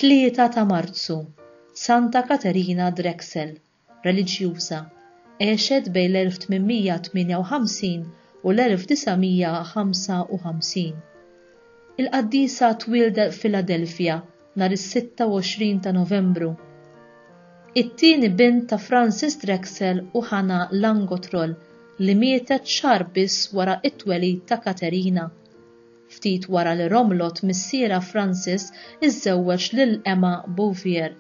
Tlieta ta' Marzu, Santa Katerina Drexel, reliġjuża, għexet bejn l-1858 u l-1955. Il-qaddisa twieldet f'Filadelfja nhar is-26 ta' Novembru. It-tieni bint ta' Francis Drexel u Hannah Langotroll li mietet xahar biss wara t-twelid ta' Katerina. Ftit wara li romlot missierha Francis iżżewweġ lil Emma Bouvier,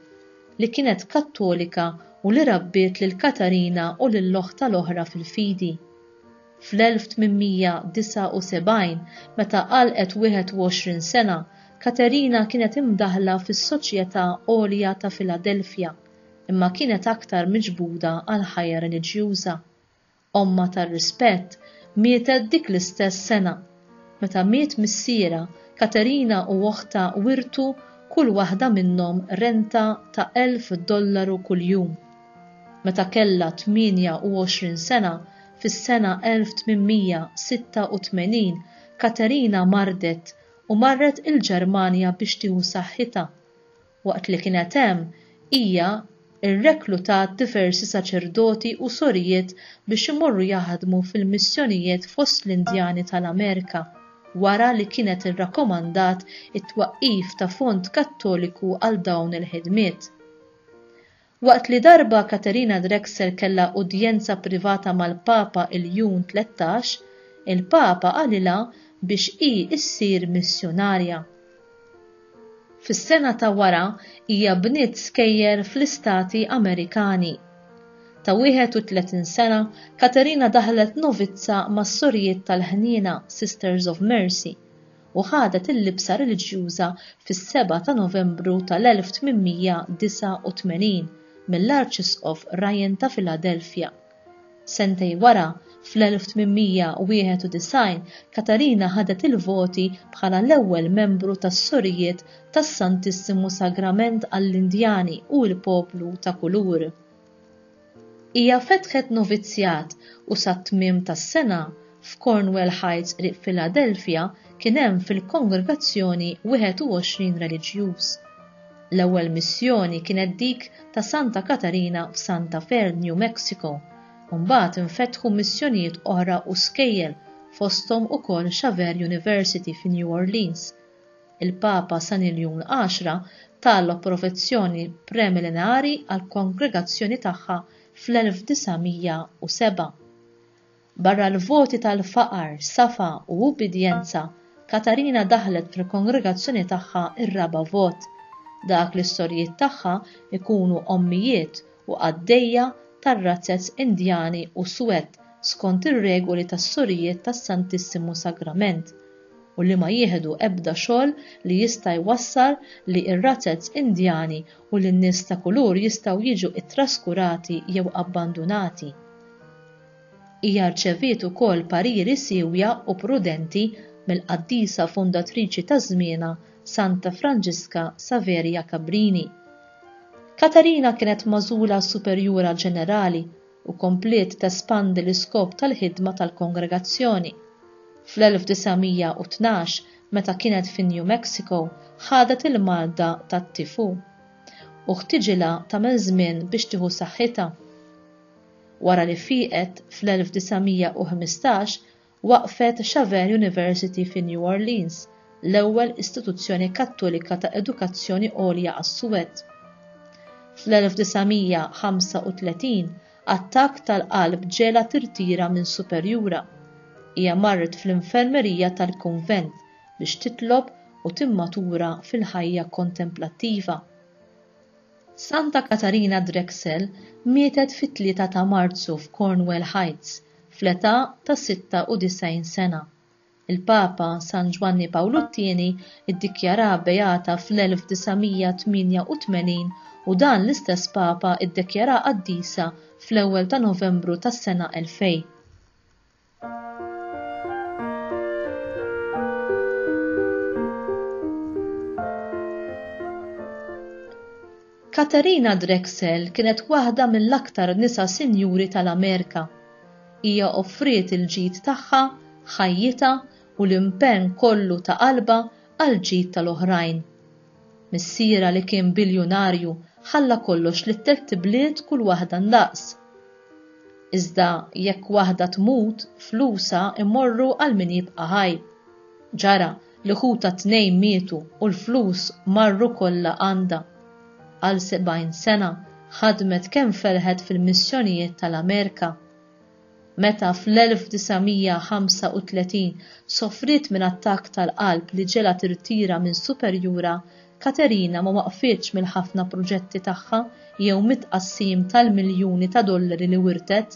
li kienet Kattolika u li rabbiet lil Katarina u lil oħtha l-oħra fil-fidi. Fl-1879, meta għalqet 21 sena, Katerina kienet imdaħħla fis-Soċjetà Għolja ta' Filadelfja, imma kienet aktar miġbuda għall-ħajja reliġjuża. Ommha tar-rispett mietet dik l-istess sena. Meta miet missierha, Katerina u oħtha wirtu kull waħda minnhom renta ta' 1,000 dollaru kuljum. Meta kellha 28 sena, fis-sena 1886, Katerina mardet u marret il-Ġermanja biex tieħu saħħitha. Waqt li kienet hemm, hija rreklutat diversi saċerdoti u sorijiet biex imorru jaħdmu fil-missjonijiet fost l-Indjani tal-Amerika, wara li kienet irrakkomandat it-twaqqif ta' fond Kattoliku għal dawn il-ħidmiet. Waqt li darba Katerina Drexel kellha udjenza privata mal-Papa Iljun 13, il-Papa qalilha biex hi ssir missjunarja. Fis-sena ta' wara hija bniet skejjel fl-Istati Amerikani. Ta' 31 sena, Katerina daħlet novizza mas-Sorijiet tal-Ħniena, Sisters of Mercy, u ħadet il-libsa reliġjuża fis-7 ta' Novembru tal-1889 mill-Arċisqof Ryan ta' Philadelphia. Sentejn wara, fl-1891, Katarina ħadet il-voti bħala l-ewwel membru tas-Sorijiet tas-Santissimu Sagrament għall-Indjani u l-Poplu ta' Kulur. Hija fetħet novizzjat u sat-tmiem tas-sena, f'Cornwell Heights qrib Philadelphia kien hemm fil-kongregazzjoni 21 reliġjuż. L-ewwel missjoni kienet dik ta' Santa Katarina f'Santa Fe, New Mexico, u mbagħad infetħu missjonijiet oħra u skejjel fosthom ukoll Xavier University fi New Orleans. Il-Papa San Iljun Għaxra ta l-approvezzjoni premillenari għall-kongregazzjoni tagħha fl-1907. Barra l-voti tal-faqar, safa u ubbidjenza, Katarina daħħlet fil-kongregazzjoni tagħha r-raba' vot, dak li s-sorijiet tagħha jkunu ommijiet u qaddejja tar-razzez Indjani u suwed skont ir-regoli tas-Sorijiet tas-Santissimu Sagrament, u li ma jieħdu ebda xogħol li jista' jwassal li r-razzez Indjani u li n-nies ta' kulur jistgħu jiġu ttraskurati jew abbandunati. Hija rċeviet ukoll pariri siewja u prudenti mill-qaddisa fundatriċi ta' żmienha Santa Franġiska Saveria Cabrini. Katarina kienet magħżula Superjura Ġenerali u kompliet tespandi l-iskop tal-ħidma tal-kongregazzjoni. Fl-1912, meta kienet fi New Mexico, ħadet il-marda tat-tifu u ħtiġilha tagħmel żmien biex tieħu saħħitha. Wara li fieqet fl-1915, waqqfet Xavier University fi New Orleans, l-ewwel istituzzjoni Kattolika ta' edukazzjoni għolja għas-suwed. Fl-1935, attakk tal-qalb ġegħlha tirtira minn superjura. Hija marret fl-infermerija tal-kunvent biex titlob u timmatura fil-ħajja kontemplattiva. Santa Katarina Drexel mietet fit-3 ta' Marzu f'Cornwell Heights fl-età ta' 96 sena. Il-Papa San Ġwanni Pawlu t-Tieni ddikjaraha beata fl-1988 u dan l-istess Papa ddekjaraha qaddisa fl-ewwel ta' Novembru tas-sena 2000. Katharina Drexel kienet waħda mill-aktar nisa sinjuri tal-Amerika. Hija offriet il-ġid tagħha, ħajjitha u l-impenn kollu ta' qalbha għall-ġid tal-oħrajn. Missierha li kien biljunarju ħalla kollox lit-tlett ibliet kull waħda ndaqs. Iżda jekk waħda tmut flusha jmorru għal min jibqa' ħaj. Ġara li ħutha t-tnejn mietu u l-flus marru kollha għandha. Għal 70 sena ħadmet kemm felħet fil-missjonijiet tal-Amerika. Meta fl-1935 sofriet minn attakk tal-qalb li ġegħlha tirtira minn superjura, Katerina ma waqfitx mill-ħafna proġetti tagħha jew mit-tqassim tal-miljuni ta' dollari li wirtet.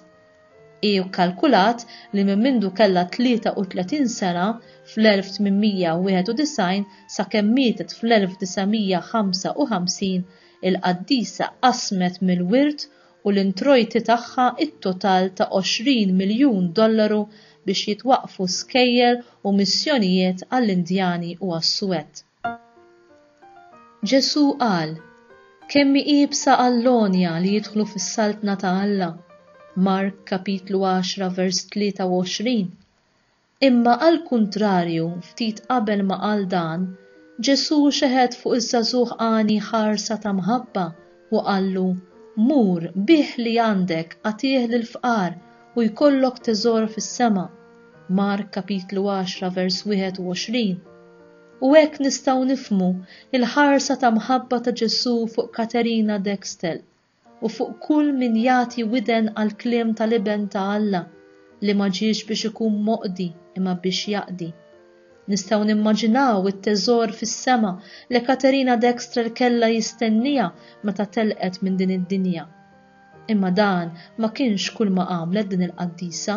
Hi kkalkulat li minn mindu kellha 33 sena fl-1891 sakemm mietet fl-1955, il-qaddisa qasmet mill-wirt u l-introjti tagħha t-total ta' 20 miljun dollaru biex jitwaqqfu skejjel u missjonijiet għall-Indjani u għas-Suwed. Ġesù qal, Kemm hi iebsa għall-għonja li jidħlu fis-Saltna ta' Alla, Mark kapitlu 10 vers 23. Imma għall-kuntrarju, ftit qabel ma qal dan, Ġesù xeħet fuq iż-żagħżugħ għani ħarsa ta' mħabba u qallu, Mur, bigħ li għandek, agħtih lill-fqar, u jkollok teżor fis-sema. Mark kapitlu 10 vers 21. U hekk nistgħu nifhmu l-ħarsa ta' mħabba ta' Ġesù fuq Katerina Dextel. u fuq kull min jagħti widen għall-kliem tal-Iben ta' Alla, li ma ġiex biex ikun moqdi imma biex jaqdi. Nistgħu nimmaġinaw it-teżor fis-sema li Katerina Dextrel kellha jistenniha meta telqet minn din id-dinja. Imma dan ma kienx kulma għamlet din il-qaddisa.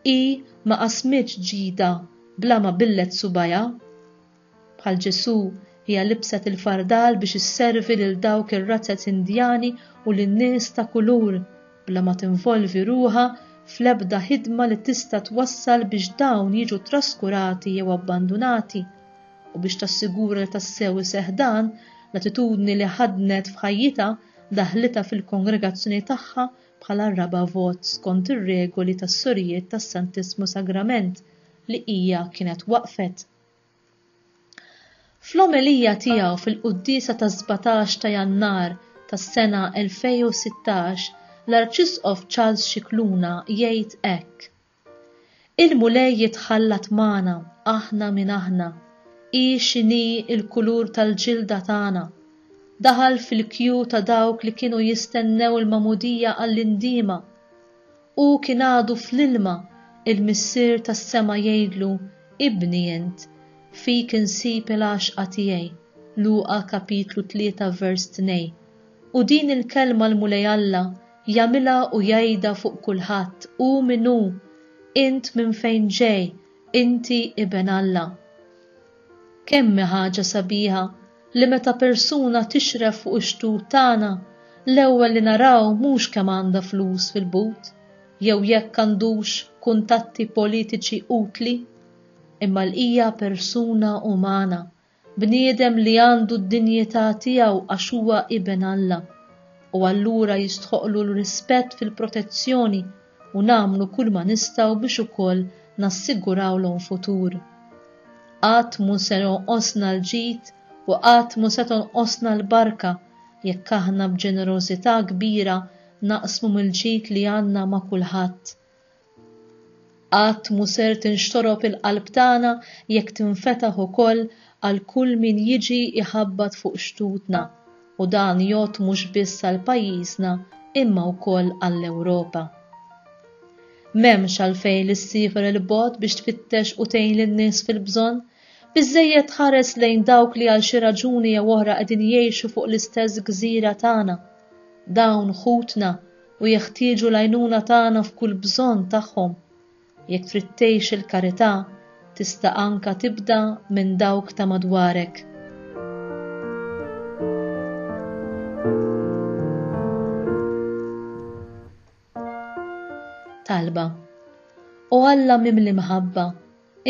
Hi ma qasmitx ġidha bla ma billet subgħajha. Bħal Ġesù, hija libset il-fardal biex isservi lil dawk ir-razzez Indjani u lin-nies ta' kulur, bla ma tinvolvi ruħha fl-ebda ħidma li tista' twassal biex dawn jiġu traskurati jew abbandunati. U biex tassigura li tassew iseħħ dan, l-attitudni li ħaddnet f'ħajjitha daħħlitha fil-kongregazzjoni tagħha bħala r-raba' vot skont ir-regoli tas-Sorijiet tas-Santissmu Sagrament li hija kienet waqqfet. Fl-omelija tiegħu fil-quddiesa tas-17 ta' Jannar tas-sena 2016, l-Arċisqof Charles Scicluna jgħid hekk, Il-Mulej jitħallat magħna aħna min aħna, hi x'inhi l-kulur tal-ġilda tagħna. Daħal fil-kju ta' dawk li kienu jistennew il-magħmudija għall-indiema. Hu kien għadu fl-ilma, il-Missier tas-sema jgħidlu, Ibni int, fik insib il-għaxqa tiegħi, Luqa kapitlu 3 vers 2. U din il-kelma l-Mulej Alla jagħmilha u jgħidha fuq kulħadd, hu min hu, int minn fejn ġej, inti iben Alla. Kemm hi ħaġa sabiħa li meta persuna tixref fuq ix-xtut tagħna, l-ewwel li naraw mhux kemm għandha flus fil-but, jew jekk għandux kuntatti politiċi utli, imma l hija persuna umana, bniedem li għandu d-dinjità tiegħu għax huwa iben Alla, u allura jistħoqqlu l-rispett fil-protezzjoni u nagħmlu kulma nistgħu biex ukoll nassigurawlhom futur. Qatt mhu se jonqosna l-ġid u qatt mhu se tonqosna l-barka jekk aħna b'ġenerożità kbira naqsmu mill-ġid li għandna ma' kulħadd. Qatt mhu ser tinxtorob il-qalb tagħna jekk tinfetaħ ukoll għal kull min jiġi jħabbat fuq xtutna, u dan jgħodd mhux biss għal pajjiżna imma wkoll għall-Ewropa. M'hemmx għalfejn li ssiefer 'il bogħod biex tfittex u tgħin lin-nies fil-bżonn, biżżejjed tħares lejn dawk li għal xi raġuni jew oħra qegħdin jgħixu fuq l-istess gżira tagħna. Dawn ħutna u jeħtieġu l-għajnuna tagħna f'kull bżonn tagħhom. Jekk trid tgħix il-karità, tista' anka tibda minn dawk ta' madwarek. Talba. O Alla mimli mħabba,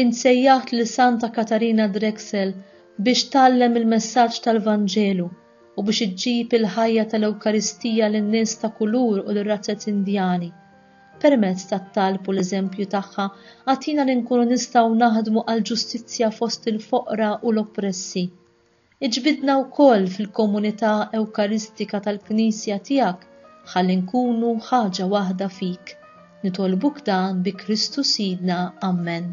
int sejjaħt lil Santa Katarina Drexel biex tgħallem il-messaġġ tal-Vanġelu u biex iġġib il-ħajja tal-Ewkaristija lin-nies ta' kulur u lir-razzez Indjani. Permezz tat-talb u l-eżempju tagħha, agħtina li nkunu nistgħu naħdmu għall-ġustizzja fost il-foqra u l-oppressi. Iġbidna wkoll fil-komunità Ewkaristika tal-Knisja tiegħek ħalli nkunu ħaġa waħda fik. Nitolbuk dan bi Kristu Sidna. Ammen.